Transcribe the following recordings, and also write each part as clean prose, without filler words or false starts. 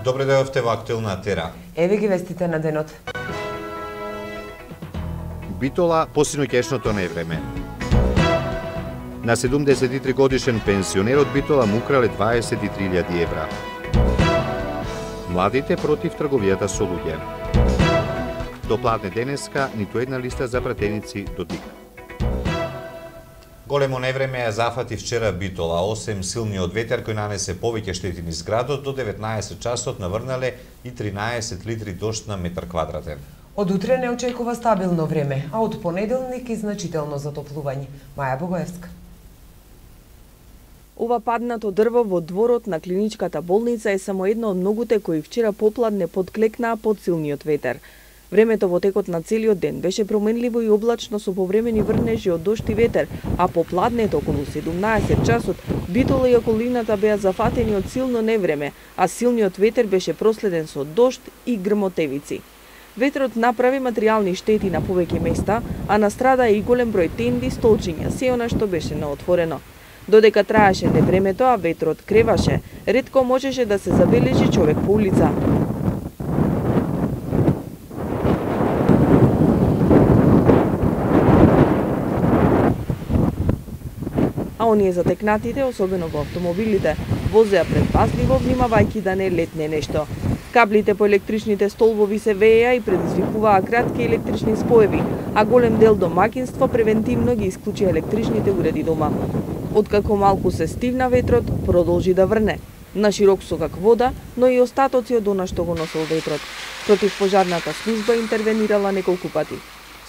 Добре дојдовте во Актуелна Тера. Еве ги вестите на денот. Битола по синоќешното невреме. На 73 годишен пенсионер од Битола му украле 23.000 евра. Младите против трговијата со луѓе. До пладне денеска ниту една листа за пратеници до ДИК. Големо невреме ја зафати вчера Битола, осем силниот ветер кој нанесе повеќе штети низ градот, до 19 часот наврнале и 13 литри дожд на метар квадратен. Од утре не очекува стабилно време, а од понеделник и значително затоплување. Маја Богоевска. Ова паднато дрво во дворот на клиничката болница е само едно од многуте кои вчера попладне подклекнаа под силниот ветер. Времето во текот на целиот ден беше променливо и облачно со повремени врнежи од дожд и ветер, а попладнето околу 17 часот Битола и околината беа зафатени од силно невреме, а силниот ветер беше проследен со дожд и грмотевици. Ветрот направи материјални штети на повеќе места, а настрада и голем број тенди, столчиња, се она што беше на отворено. Додека траеше невремето, а ветрот креваше, ретко можеше да се забележи човек по улица. А оние затекнатите, особено во автомобилите, возеа предпазливо, внимавајќи да не летне нешто. Каблите по електричните столбови се вееа и предизвикуваа кратки електрични споеви, а голем дел домаќинства превентивно ги исклучија електричните уреди дома. Откако малку се стивна ветрот, продолжи да врне. На широк со как вода, но и остатоци од она што го носел ветрот. Противпожарната служба интервенирала неколку пати.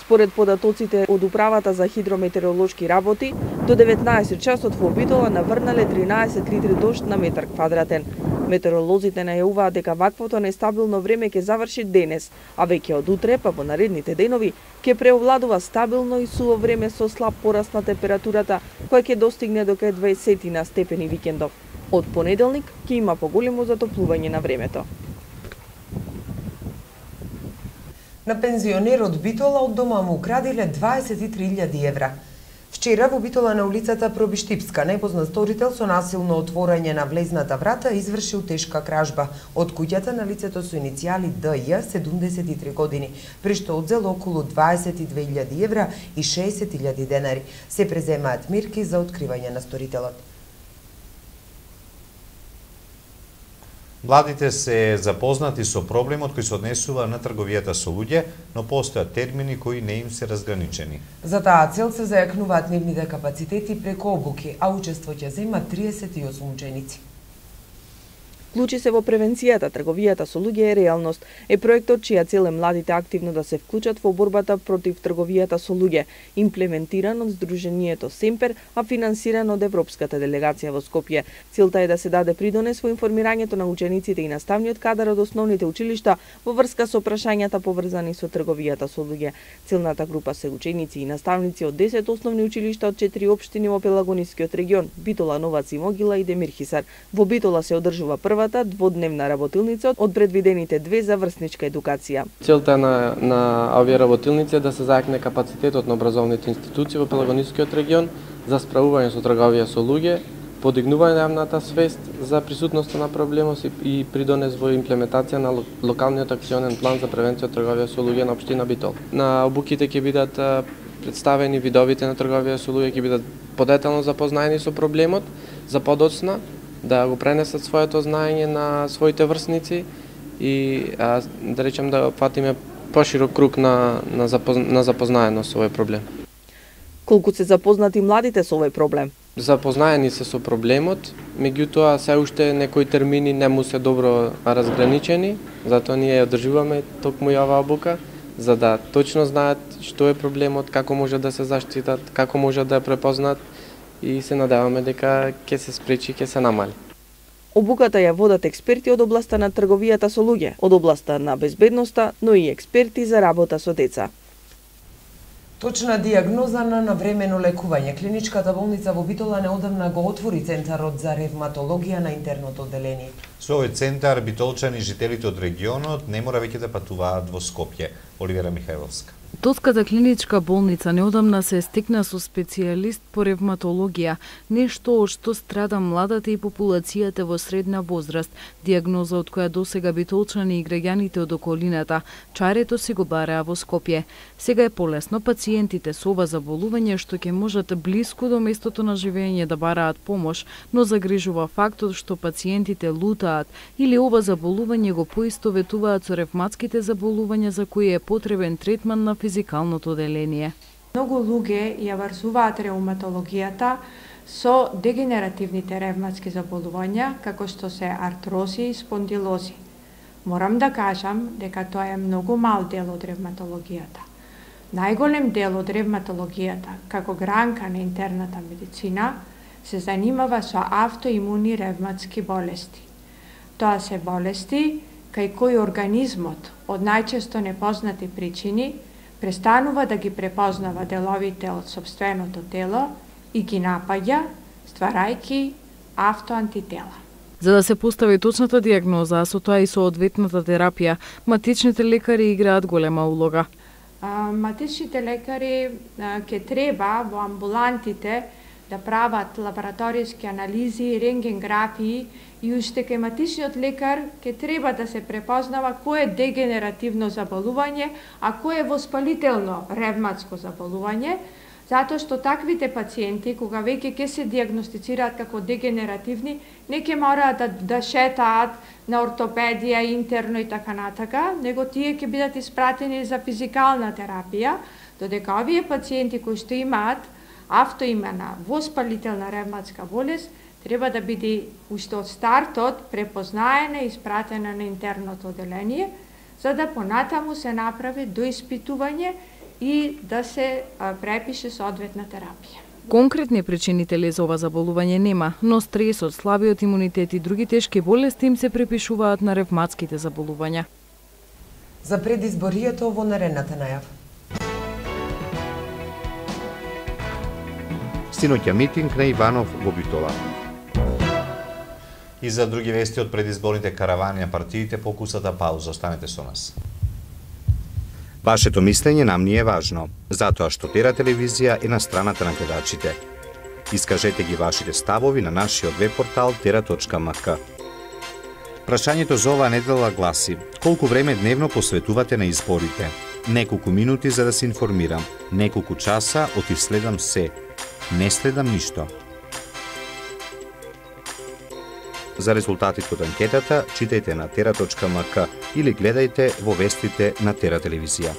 Според податоците од Управата за хидрометеоролошки работи, до 19 часот во Битола наврнале 13 литри дожд на метар квадратен. Метеоролозите најавуваат дека ваквото нестабилно време ќе заврши денес, а веќе од утре па во наредните денови ќе преовладува стабилно и суво време со слаб пораст на температурата, која ќе достигне до кај 20 на степени викендов. Од понеделник ќе има поголемо затоплување на времето. На пензионерот Битола од дома му украдиле 23.000 евра. Вчера во Битола на улицата Пробиштипска непознат сторител со насилно отворање на влезната врата извршил тешка кражба од куќата на лицето со иницијали ДЈ, 73 години, при што одзел околу 22.000 евра и 60.000 денари. Се преземаат мерки за откривање на сторителот. Младите се запознати со проблемот кој се однесува на трговијата со луѓе, но постојат термини кои не им се разграничени. За таа цел се зајакнуваат нивните капацитети преку обуки, а учество ќе земат 38 ученици. Вклучи се во превенцијата, трговијата со луѓе е реалност. Е проектот чија цел е младите активно да се вклучат во борбата против трговијата со луѓе, имплементиран од Сдруженијето Семпер, а финансиран од Европската делегација во Скопје. Целта е да се даде придонес во информирањето на учениците и наставниот кадар од основните училишта во врска со прашањата поврзани со трговијата со луѓе. Целната група се ученици и наставници од 10 основни училишта од 4 општини во Пелагонискиот регион: Битола, Новаци, Могила и Демир Хисар. Во Битола се одржува првата дводневна работилница од предвидените 2 за врсничка едукација. Целта на овие работилници е да се зајакне капацитетот на образовните институции во Пелагонискиот регион за справување со трговија со луѓе, подигнување на јавната свест за присутноста на проблемот и придонес во имплементација на локалниот акционен план за превенција од трговија со луѓе на општина Битола. На обуките ќе бидат представени видовите на трговија со луѓе, ќе бидат подетално запознаени со проблемот за подоцна да го пренесат своето знаење на своите врсници и да речем да фатиме поширок круг на запознаеност со овој проблем. Колку се запознати младите со овој проблем? Запознаени се со проблемот, меѓутоа се уште некои термини не му се добро разграничени, затоа ние одржуваме токму и оваа обука, за да точно знаат што е проблемот, како може да се заштитат, како може да ја препознаат, и се надеваме дека ќе се спречи, ќе се намали. Обуката ја водат експерти од областа на трговијата со луѓе, од областа на безбедноста, но и експерти за работа со деца. Точна дијагноза на навремено лекување. Клиничката болница во Битола неодамна го отвори центарот за ревматологија на интерното одделение. Со овој центар битолчани и жителите од регионот не мора веќе да патуваат во Скопје. Оливера Михајловска. Тоската клиничка болница неодамна се стекна со специјалист по ревматологија, нешто од што страда младата и популацијата во средна возраст, диагноза од која досега битолчани и граѓаните од околината чарето си го бараа во Скопје. Сега е полесно пациентите со ова заболување што ќе можат блиску до местото на живење да бараат помош, но загрижува фактот што пациентите лутаат или ова заболување го поистоветуваат со ревматските заболувања за кои е потребен третман на физикалното оделение. Многу луѓе ја врзуваат реуматологијата со дегенеративните ревматски заболувања, како што се артрози и спондилози. Морам да кажам дека тоа е многу мал дел од ревматологијата. Најголем дел од ревматологијата, како гранка на интерната медицина, се занимава со автоимуни ревматски болести. Тоа се болести кај кои организмот од најчесто непознати причини престанува да ги препознава деловите од сопственото тело и ги напаѓа, стварајќи автоантитела. За да се постави точната диагноза, а со тоа и со одветната терапија, матичните лекари играат голема улога. Матичните лекари ќе треба во амбулантите да прават лабораториски анализи, рентгенграфии и уште кај матичниот лекар ќе треба да се препознава кој е дегенеративно заболување, а кој е воспалително ревматско заболување, затоа што таквите пациенти, кога веќе ќе се диагностицираат како дегенеративни, не ќе мораат да шетаат на ортопедија, интерно и така натака, него тие ќе бидат испратени за физикална терапија, додека овие пациенти кои што имаат автоимена воспалителна ревматска болест, треба да биде уште од стартот препознаена и испратена на интерното оделение, за да понатаму се направи доиспитување и да се препише соодветна терапија. Конкретни причинители за ова заболување нема, но стресот, слабиот имунитет и други тешки болести им се припишуваат на ревматските заболувања. За предизборието во наредната најава. Синоќа митинг на Иванов во Битола. И за други вести од предизборните каравани на партиите, покусата пауза. Останете со нас. Вашето мислење нам ни е важно, затоа што Тера телевизија е на страната на гледачите. Искажете ги вашите ставови на нашиот веб-портал tera.mk. Прашањето за оваа недела гласи: колку време дневно посветувате на изборите? Неколку минути за да се информирам, неколку часа следам се. Не следам ништо. За резултатите од анкетата читајте на tera.mk или гледајте во вестите на Тера телевизија.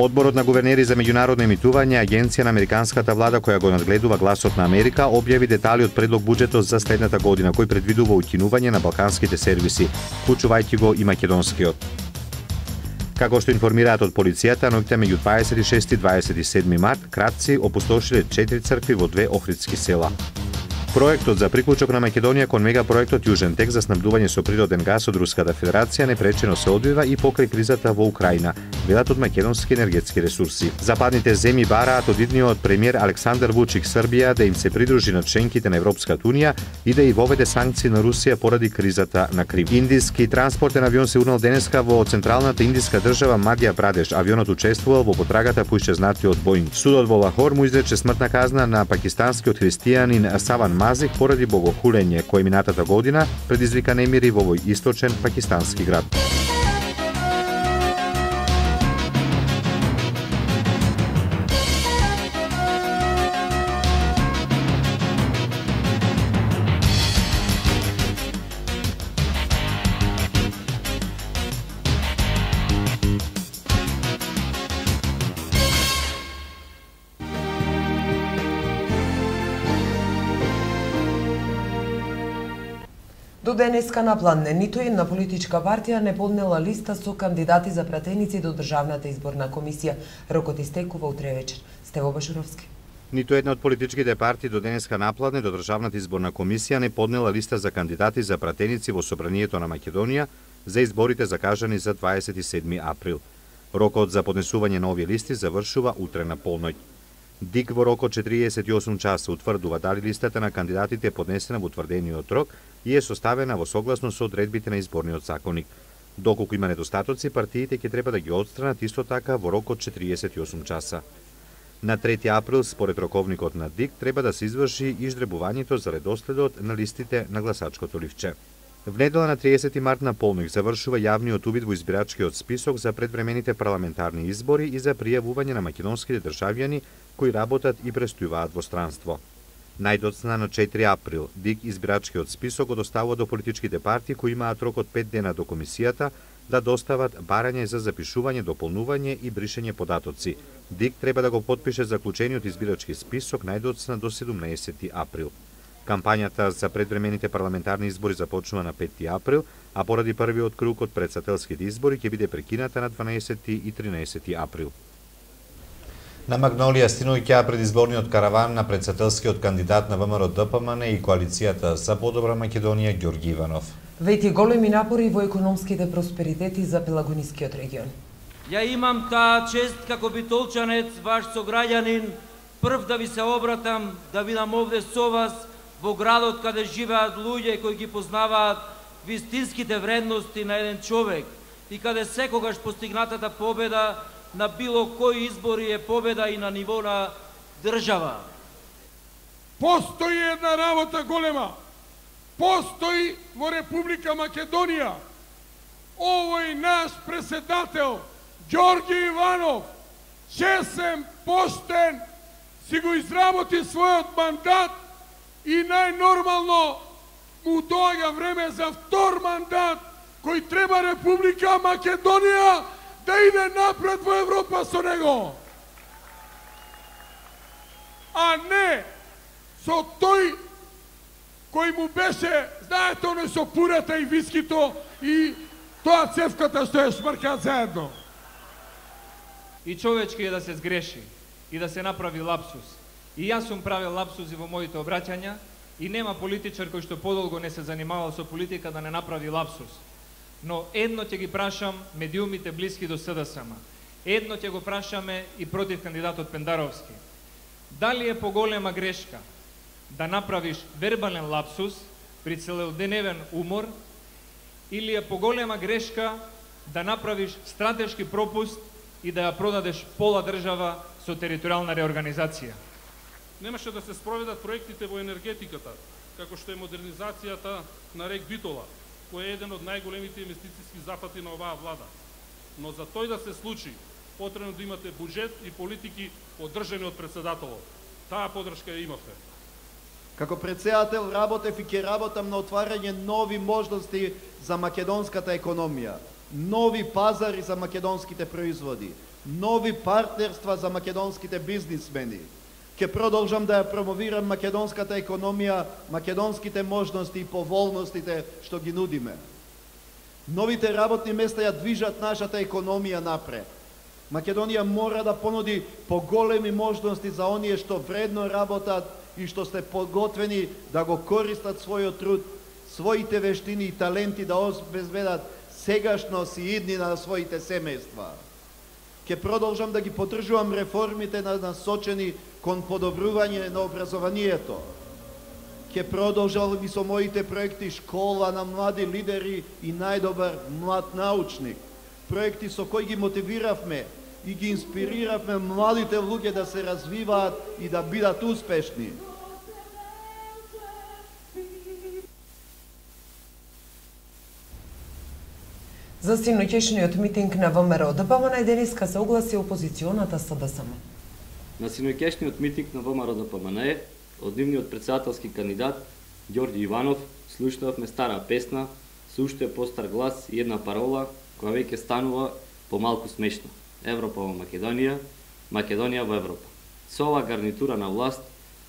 Одборот на гувернери за меѓународно емитување, агенција на американската влада која го надгледува гласот на Америка, објави детали од предлог буџетот за следната година, кој предвидува укинување на балканските сервиси, вклучувајќи го и македонскиот. Како што информираат од полицијата, ноќта меѓу 26 и 27 март, кратци опустошиле 4 цркви во 2 охридски села. Проектот за приклучок на Македонија кон мегапроектот Јужен тек за снабдување со природен газ од Руската Федерација непречено се одвива и покрај кризата во Украина, велат од македонски енергетски ресурси. Западните земји бараат од идниот премиер Александар Вучик Србија да им се придружи на членките на Европската унија и да и воведе санкции на Русија поради кризата на Крим. Индиски транспортен авион се урнал денеска во централната индиска држава Мадја Прадеш. Авионот учествувал во потрагата по исчезнатиот Боинг. Судот во Лахор му изрече смртна казна на пакистанскиот христијанин Саван Мазих поради богохулење кој минатата година предизвика немири во овој источен пакистански град. До денеска на план ниту една политичка партија не поднела листа со кандидати за пратеници до Државната изборна комисија. Рокот истекува утре вечер. Стево Башуровски. Ниту една од политичките партии до денеска напладне до Државната изборна комисија не поднела листа за кандидати за пратеници во Собранието на Македонија за изборите закажани за 27 април. Рокот за поднесување на овие листи завршува утре на полноќ. ДИК во рокот 48 часа утврдува дали листата на кандидатите е поднесена во утврдениот рок и е составена во согласно со одредбите на изборниот законник. Доколку има недостатоци, партиите ќе треба да ги отстранат исто така во рокот 48 часа. На 3 април, според роковникот на ДИК, треба да се изврши изжребувањето за редоследот на листите на гласачкото ливче. В недела на 30 март на полноќ завршува јавниот увид во избирачкиот список за предвремените парламентарни избори и за пријавување на македонските државјани кои работат и престојуваат во странство. Најдоцна на 4 април, ДИК избирачкиот список го доставува до политичките партии кои имаат рок од 5 дена до комисијата да достават барање за запишување, дополнување и бришење податоци. ДИК треба да го потпише заклучениот избирачки список најдоцна до 17 април. Кампањата за предвремените парламентарни избори започнува на 5 април, а поради првиот круг од претседателските избори ќе биде прекината на 12 и 13 април. На Магнолија стигнувајќи предизборниот караван на претседателскиот кандидат на ВМРО-ДПМН и коалицијата за подобра Македонија Ѓорги Иванов. Вети големи напори во економските просперитети за Пелагонискиот регион. Ја имам таа чест како битолчанец, ваш сограѓанин, прв да ви се обратам, да бидам овде со вас во градот каде живеат луѓе кои ги познаваат вистинските вредности на еден човек и каде секогаш постигнатата победа на било кои избори е победа и на ниво на држава. Постои една работа голема. Постои во Република Македонија. Овој наш председател Ѓорги Иванов, чесен, поштен, си го изработи својот мандат и најнормално му доаѓа време за втор мандат кој треба Република Македонија да иде напред во Европа со него. А не со тој кој му беше, знаете, оној со пурата и вискито и тоа цевката што ја шмркаат заедно. И човечки е да се сгреши и да се направи лапсус. И јас сум правил лапсуси во моите обраќања и нема политичар кој што подолго не се занимавал со политика да не направи лапсус. Но едно ќе ги прашам медиумите блиски до СДСМ. Едно ќе го прашаме и против кандидатот Пендаровски. Дали е поголема грешка да направиш вербален лапсус при целодневен умор или е поголема грешка да направиш стратешки пропуст и да ја продадеш пола држава со територијална реорганизација? Немаше да се спроведат проектите во енергетиката, како што е модернизацијата на рек Битола, кој е еден од најголемите инвестициски запати на оваа влада. Но за тој да се случи, потребно да имате буџет и политики поддржани од председателот. Таа поддршка ја имавте. Како председател работев и ќе работам на отварање нови можности за македонската економија, нови пазари за македонските производи, нови партнерства за македонските бизнисмени. Ќе продолжам да ја промовирам македонската економија, македонските можности и поволностите што ги нудиме. Новите работни места ја движат нашата економија напред. Македонија мора да понуди поголеми можности за оние што вредно работат и што сте подготвени да го користат својот труд, своите вештини и таленти да обезбедат сегашност и иднина на своите семејства. Ќе продолжам да ги поддржувам реформите насочени кон подобрување на образованието. Ќе продолжам и со моите проекти Школа на млади лидери и најдобар млад научник. Проекти со кои ги мотивиравме и ги инспириравме младите луѓе да се развиваат и да бидат успешни. За синоќешниот митинг на ВМРО-ДПМН денеска се огласи опозиционата СДСМ. На синоќешниот митинг на ВМРО-ДПМН од нивниот председателски кандидат Ѓорги Иванов слушнавме стара песна со уште постар глас и една парола која веќе станува помалку смешна. Европа во Македонија, Македонија во Европа. Со оваа гарнитура на власт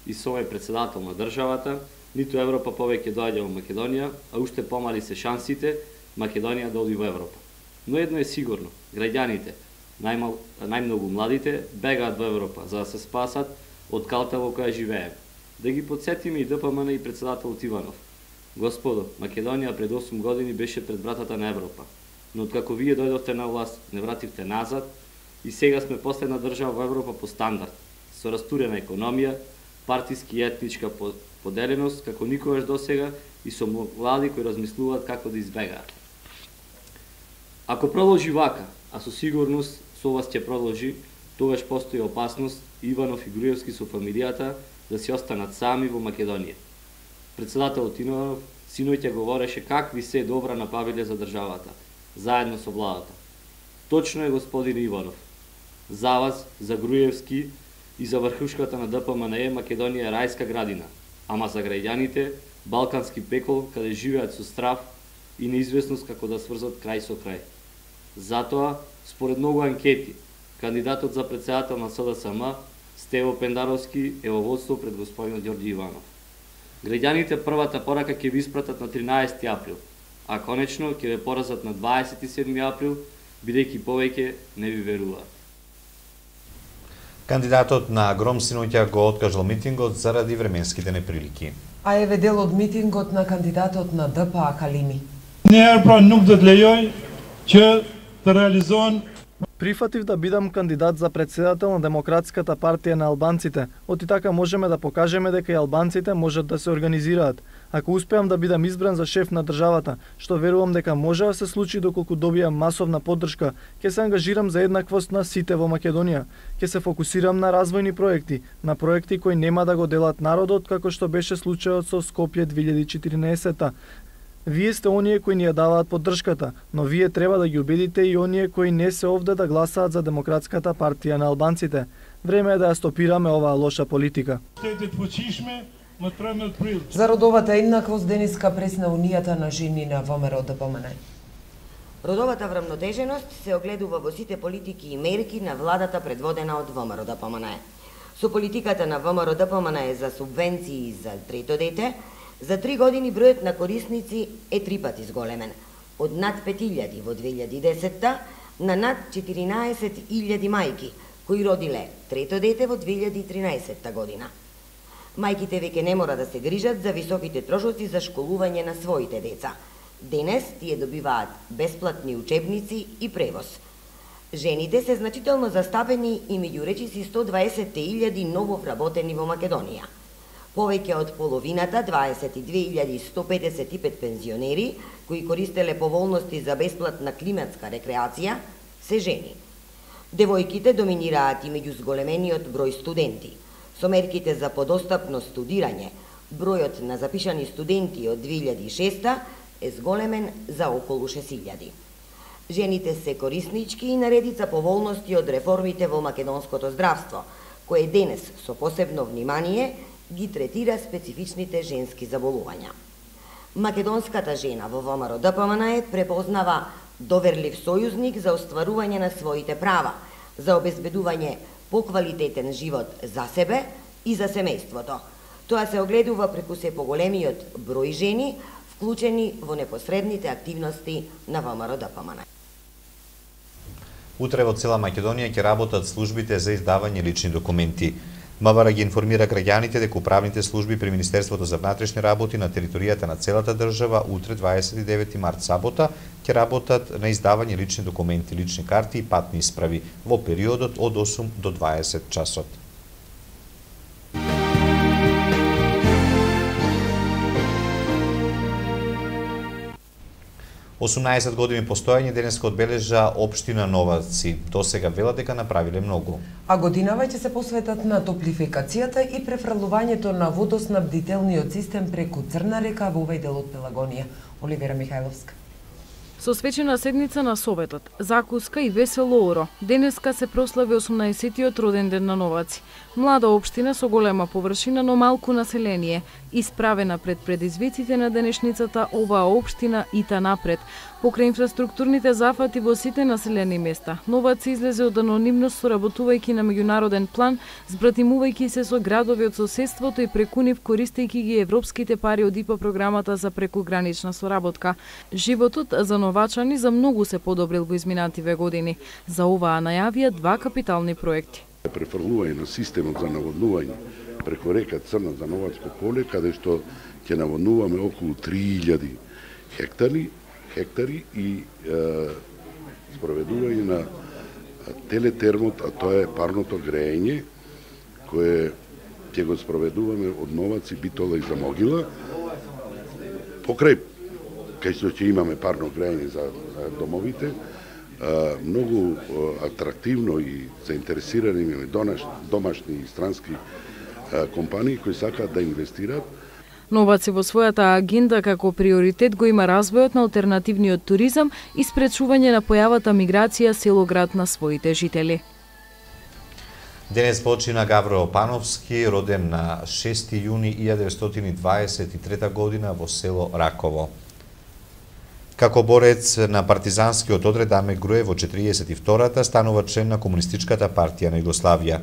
и со овој председател на државата, ниту Европа повеќе доаѓа во Македонија, а уште помали се шансите Македонија да оди во Европа. Но едно е сигурно, граѓаните, најмногу младите, бегаат во Европа за да се спасат од калта во која живееме. Да ги подсетиме и ДПМН и председателот Иванов. Господо, Македонија пред 8 години беше пред вратата на Европа, но откако вие дојдовте на власт, не вративте назад и сега сме последна држава во Европа по стандард, со растурена економија, партиски и етничка поделеност, како никогаш досега и со млади кои размислуваат како да избегаат. Ако продолжи вака, а со сигурност со вас ќе продолжи, тогаш постои опасност Иванов и Груевски со фамилијата да си останат сами во Македонија. Председателот Иванов синоќа говореше какви се добра направиле за државата, заедно со владата. Точно е, господин Иванов. За вас, за Груевски и за врхушката на ДПМН Македонија е рајска градина, ама за граѓаните балкански пекол каде живеат со страв и неизвестност како да сврзат крај со крај. Затоа, според многу анкети, кандидатот за председател на СДСМ, Стево Пендаровски, е во водство пред господинот Ѓорѓи Иванов. Граѓаните првата порака ќе ви испратат на 13 април, а конечно ќе ве поразат на 27 април, бидејќи повеќе не ви веруваат. Кандидатот на Гром синоќа го откажал митингот заради временските неприлики. А еве дел од митингот на кандидатот на ДПА Калими. Нерпра нук да лејој ќе да реализоан. Прифатив да бидам кандидат за председател на Демократската партија на албанците, оти така можеме да покажеме дека и албанците можат да се организираат. Ако успеам да бидам избран за шеф на државата, што верувам дека може да се случи доколку добијам масовна поддршка, ќе се ангажирам за еднаквост на сите во Македонија. Ќе се фокусирам на развојни проекти, на проекти кои нема да го делат народот, како што беше случајот со Скопје 2014. Вие сте оние кои ни ја даваат поддршката, но вие треба да ги убедите и оние кои не се овде да гласаат за Демократската партија на албанците. Време е да ја стопираме оваа лоша политика. За родовата еднаквост денеска пресна Унијата на жени на ВМРО ДПМН. Родовата врамнотеженост се огледува во сите политики и мерки на владата предводена од ВМРО ДПМН. Со политиката на ВМРО ДПМН за субвенции за трето дете, за 3 години бројот на корисници е 3 пати зголемен, од над 5000 во 2010 на над 14.000 мајки, кои родиле трето дете во 2013 година. Мајките веќе не мора да се грижат за високите трошоци за школување на своите деца. Денес тие добиваат бесплатни учебници и превоз. Жените се значително застапени и меѓу речиси 120.000 ново вработени во Македонија. Повеќе од половината, 22.155 пензионери, кои користеле поволности за бесплатна климатска рекреација, се жени. Девојките доминираат и меѓу зголемениот број студенти. Со мерките за подостапно студирање, бројот на запишани студенти од 2006 е зголемен за околу 6.000. Жените се кориснички и наредица поволности од реформите во македонското здравство, кое денес со посебно внимание ги третира специфичните женски заболувања. Македонската жена во ВМРО ДПМН препознава доверлив сојузник за остварување на своите права, за обезбедување поквалитетен живот за себе и за семејството. Тоа се огледува преку се поголемиот број жени вклучени во непосредните активности на ВМРО ДПМН. Утре во цела Македонија ќе работат службите за издавање лични документи. МВР ги информира граѓаните дека управните служби при Министерството за внатрешни работи на територијата на целата држава утре 29 март сабота ќе работат на издавање лични документи, лични карти и патни исправи во периодот од 8 до 20 часот. Осумнаесет години постојање денеска одбележа општина Новаци. Досега вела дека направиле многу. А годинава ќе се посветат на топлификацијата и префрлувањето на водоснабдителниот систем преку Црна река во овој дел од Пелагонија. Оливера Михајловска. Со свечена седница на Советот, закуска и весело оро, денеска се прослави 18-тиот роден ден на Новаци. Млада општина со голема површина, но малку население. Исправена пред предизвиците на денешницата, оваа општина ита напред. Покрај инфраструктурните зафати во сите населени места, Новац излезе од анонимност соработувајќи на меѓународен план, збратимувајќи се со градови од соседството и преку нив користејќи ги европските пари од ИПА програмата за прекугранична соработка. Животот за новачани за многу се подобрил во изминативе години. За оваа најавија 2 капитални проекти. Префрлување на системот за наводнување преку река Црна за Новачко поле, каде што ќе наводнуваме околу 3000 хектари и спроведување на телетермот, а тоа е парното грејење, кое ќе го спроведуваме од Новац и Битола и за Могила. Покрај кај што ќе имаме парно грејење за домовите, многу атрактивно и заинтересирани имаме домашни и странски компании кои сакаат да инвестираат. Новац во својата агенда како приоритет го има развојот на алтернативниот туризам и спречување на појавата миграција село-град на своите жители. Денес почина Гавро Пановски, роден на 6 јуни 1923 година во село Раково. Како борец на партизанскиот одред Аме Груев во 42-та станува член на Комунистичката партија на Југославија.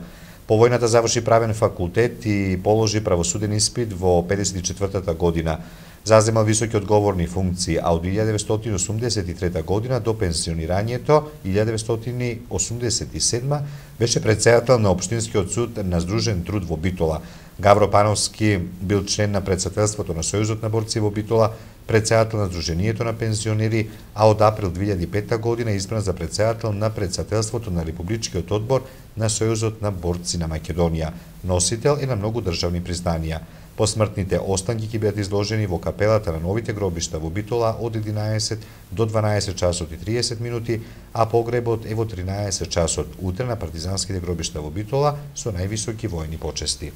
По војната заврши правен факултет и положи правосуден испит во 54-та година. Зазема високи одговорни функции, а од 1983 година до пенсионирањето 1987 беше претседател на Општинскиот суд на Здружен труд во Битола. Гавро Пановски бил член на председателството на Сојузот на борци во Битола, председател на Сдруженијето на пензионери, а од април 2005 година избран за председател на председателството на Републичкиот одбор на Сојузот на борци на Македонија. Носител е на многу државни признанија. Посмртните останки ќе бидат изложени во капелата на новите гробишта во Битола од 11 до 12 часот и 30 минути, а погребот е во 13 часот утре на партизанските гробишта во Битола со највисоки војни почести.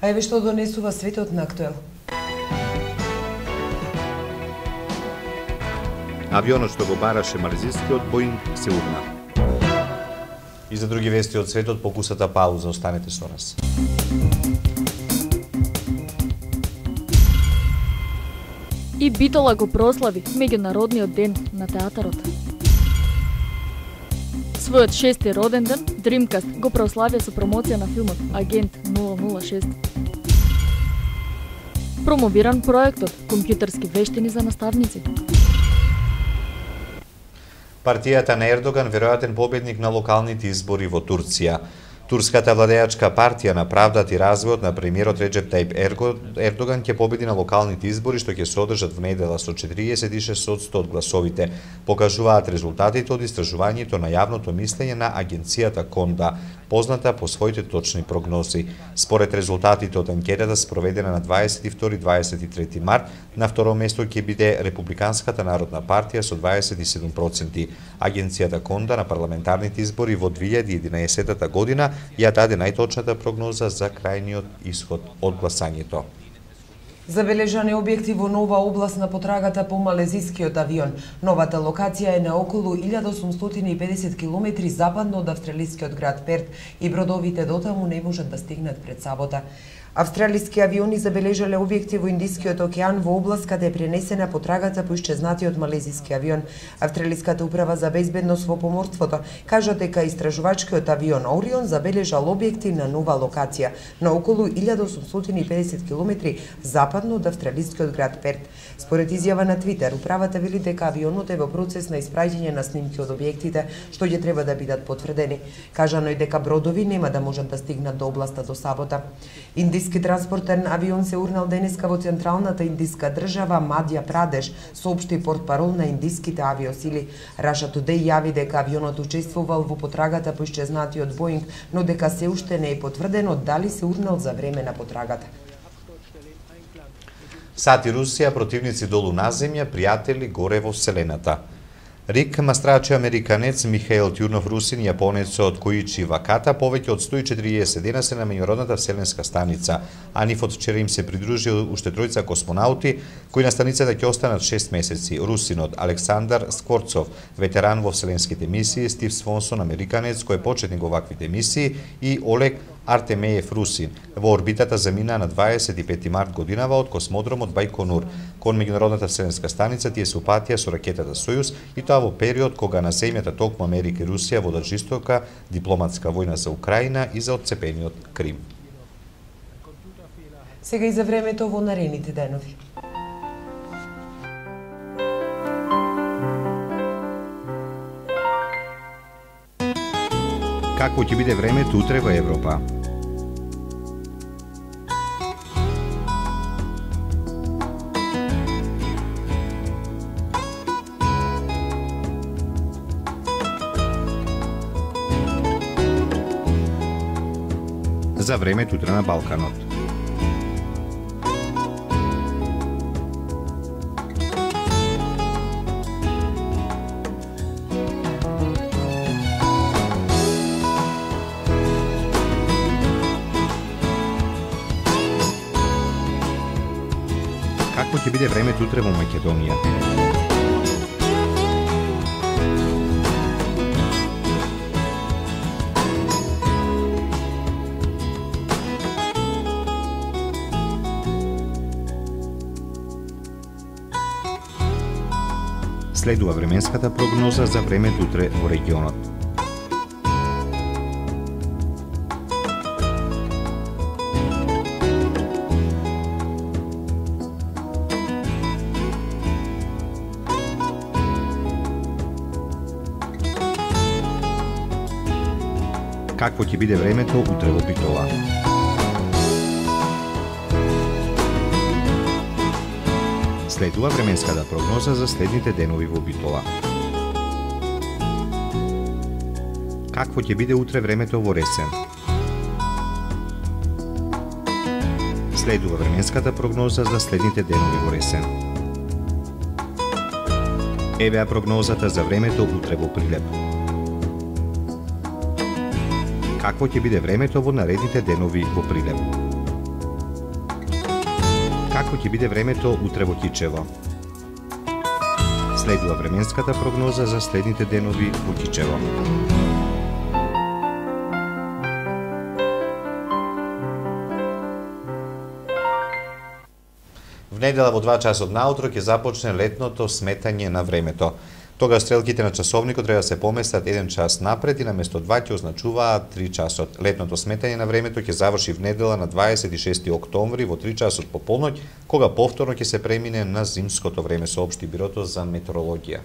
А еве што донесува светот на актуел. Авионот што го бараше малезискиот Боинг се урна. И за други вести од светот, покусата пауза, останете со нас. И Битола го прослави меѓународниот ден на театарот. Својот 6-ти роден ден, Dreamcast го прославија со промоција на филмот Агент 006. Промовиран проектот Компјутерски вештини за наставници. Партијата на Ердоган веројатен победник на локалните избори во Турција. Турската владеачка партија на правдата и развојот на премиерот Реджеп Тајип Ердоган ќе победи на локалните избори што ќе се одржат во недела со 46% од гласовите, покажуваат резултатите од истражувањето на јавното мислење на агенцијата Конда, позната по своите точни прогнози. Според резултатите од анкетата спроведена на 22-23 март, на второ место ќе биде Републиканската народна партија со 27%. Агенцијата Конда на парламентарните избори во 2011 година ја даде најточната прогноза за крајниот исход од гласањето. Забележан е објекти во нова област на потрагата по малезискиот авион. Новата локација е на околу 1850 км западно од австралискиот град Перт и бродовите дотаму не можат да стигнат пред сабота. Австралиски авиони забележале објекти во Индискиот океан во област каде е пренесена потрагата по исчезнатиот малезиски авион. Австралиската управа за безбедност во поморството кажа дека истражувачкиот авион Орион забележал објекти на нова локација на околу 1850 км западно од австралискиот град Перт. Според изјава на Твитер, управата вели дека авионот е во процес на испраќање на снимки од објектите што ќе треба да бидат потврдени. Кажано е дека бродови нема да можат да стигнат до областа до сабота. Индиски транспортен авион се урнал денеска во централната индиска држава Мадја Прадеш, соопшти портпарол на индиските авиосили. Russia Today јави дека авионот учествувал во потрагата по исчезнатиот Боинг, но дека се уште не е потврдено дали се урнал за време на потрагата. Сад и Русија, противници долу на земја, пријатели горе во Вселената. Рик Мастрачи американец, Михаил Тјурнов Русин, јапонецот Коичи Ваката повеќе од 140 дена се на меѓународната вселенска станица, а нив од вчера им се придружи уште тројца космонаути кои на станицата ќе останат 6 месеци. Русинот Александар Скворцов, ветеран во вселенските мисии, Стив Свонсон, американец кој е почетник во ваквите мисии, и Олег Артемеев Русин во орбитата заминаа на 25 март годинава од космодромот Бајконур кон меѓународната вселенска станица. Тие се упатија со ракетата Сојуз и тоа во период кога на земјата токму Америка и Русија водат жестока дипломатска војна за Украина и за отцепениот Крим. Сега и за времето во наредните денови. Какво ќе биде времето утре во Европа? За времето утре на Балканот. Какво ќе биде времето утре во Македонија? Следува временската прогноза за времето утре во регионот. Какво ќе биде времето утре во Битола? Следува временската прогноза за следните денови во Битола. Какво ќе биде утре времето во Ресен? Следува временската прогноза за следните денови во Ресен. Евеа прогнозата за времето утре во Прилеп. Какво ќе биде времето во наредните денови во Прилеп? Какво ќе биде времето утре во Кичево? Следува временската прогноза за следните денови во Кичево. В недела во 2 часот наутро ќе започне летното сметање на времето. Тога стрелките на часовникот треба да се поместат 1 час напред и наместо 2 ќе означуваат 3 часот. Летното сметање на времето ќе заврши в недела на 26 октомври во 3 часот по полноќ, кога повторно ќе се премине на зимското време, соопшти Бирото за метеорологија.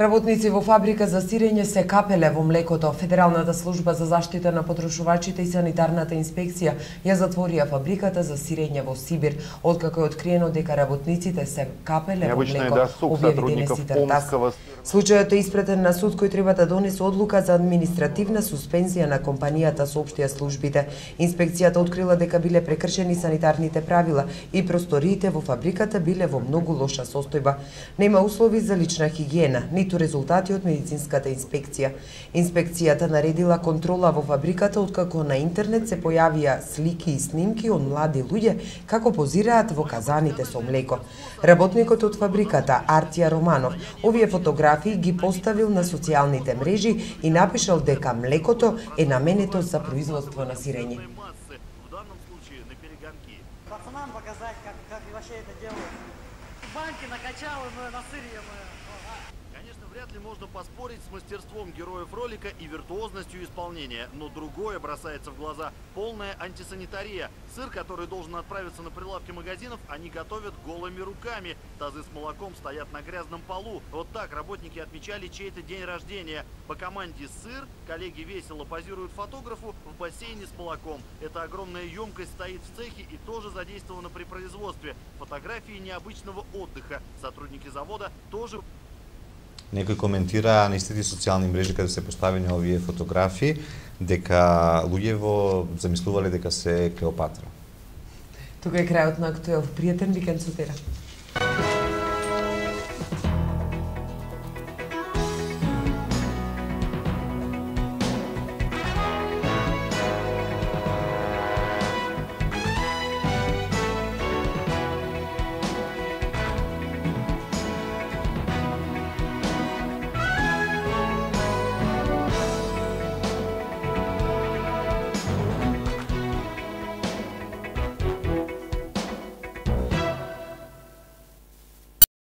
Работници во фабрика за сирење се капеле во млекото. Федералната служба за заштита на потрошувачите и санитарната инспекција ја затворија фабриката за сирење во Сибир, откако е откриено дека работниците се капеле во млеко, објави денес Интертас. Случајот е испратен на суд кој треба да донесе одлука за административна суспензија на компанијата, соопштија службите. Инспекцијата открила дека биле прекршени санитарните правила и просториите во фабриката биле во многу лоша состојба. Нема услови за лична хигиена, ниту резултати од медицинската инспекција. Инспекцијата наредила контрола во фабриката откако на интернет се појавија слики и снимки од млади луѓе како позираат во казаните со млеко. Работникот од фабриката, Артија Романов, овие фотографии ги поставил на социјалните мрежи и напишал дека млекото е наменето за производство на сирење. Вряд ли можно поспорить с мастерством героев ролика и виртуозностью исполнения, но другое бросается в глаза – полная антисанитария. Сыр, который должен отправиться на прилавки магазинов, они готовят голыми руками. Тазы с молоком стоят на грязном полу. Вот так работники отмечали чей-то день рождения. По команде «Сыр» коллеги весело позируют фотографу в бассейне с молоком. Эта огромная емкость стоит в цехе и тоже задействована при производстве. Фотографии необычного отдыха. Сотрудники завода тоже... Некој коментира на истите социјални мрежи каде се поставени овие фотографии дека луѓево замислувале дека се Клеопатра. Тука е крајот на Актуел. Пријатен викенд со тера.